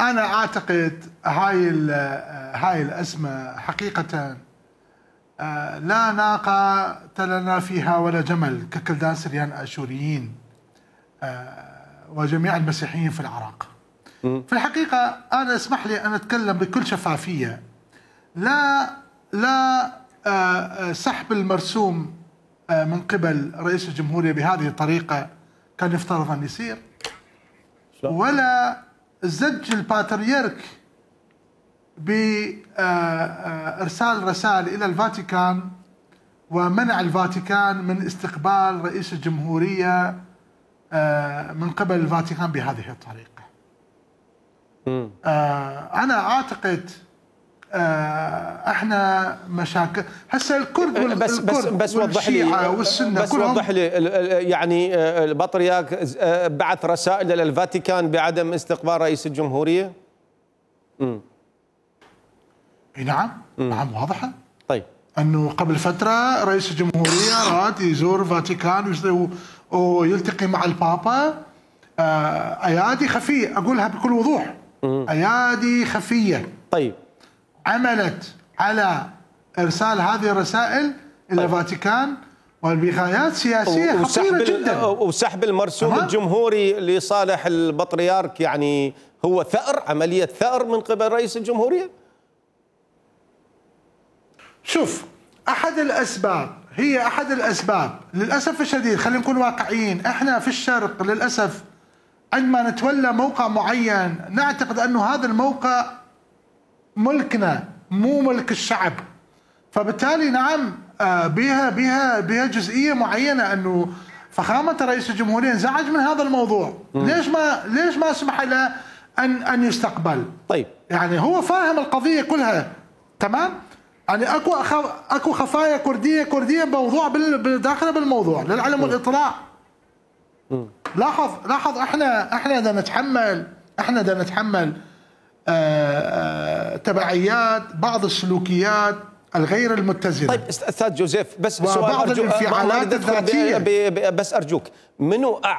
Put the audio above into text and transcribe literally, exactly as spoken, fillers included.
أنا أعتقد هاي هاي الأزمة حقيقة لا ناقة لنا فيها ولا جمل ككلدان سريان آشوريين وجميع المسيحيين في العراق. في الحقيقة أنا اسمح لي أن أتكلم بكل شفافية. لا لا سحب المرسوم من قبل رئيس الجمهورية بهذه الطريقة كان يفترض أن يصير، ولا زج الباتريرك بإرسال رسائل إلى الفاتيكان ومنع الفاتيكان من استقبال رئيس الجمهورية من قبل الفاتيكان بهذه الطريقة. أنا أعتقد احنا مشاكل هسه الكرد وال بس بس بس وضح لي والسنة بس وضح لي يعني البطريرك بعث رسائل الى الفاتيكان بعدم استقبال رئيس الجمهورية؟ امم نعم نعم واضحة. طيب انه قبل فترة رئيس الجمهورية راد يزور الفاتيكان ويلتقي مع البابا. ايادي خفية، اقولها بكل وضوح، ايادي خفية طيب عملت على إرسال هذه الرسائل إلى الفاتيكان وبغايات سياسية خطيرة جدا، وسحب المرسوم الجمهوري لصالح البطريرك. يعني هو ثأر، عملية ثأر من قبل رئيس الجمهورية. شوف، أحد الأسباب هي أحد الأسباب للأسف الشديد، خلينا نكون واقعيين، إحنا في الشرق للأسف عندما نتولى موقع معين نعتقد أنه هذا الموقع ملكنا مو ملك الشعب، فبالتالي نعم بها بها بها جزئيه معينه انه فخامه رئيس الجمهوريه انزعج من هذا الموضوع. م. ليش ما ليش ما سمح له ان ان يستقبل؟ طيب يعني هو فاهم القضيه كلها تمام؟ يعني اكو اكو خفايا كرديه كرديه موضوع داخله بالموضوع للعلم والاطلاع. م. لاحظ لاحظ احنا احنا بدنا نتحمل احنا بدنا نتحمل آآ آآ تبعيات بعض السلوكيات الغير المتزنه. طيب استاذ جوزيف، بس سؤال بعض الانفعالات الذاتيه، بس ارجوك، منو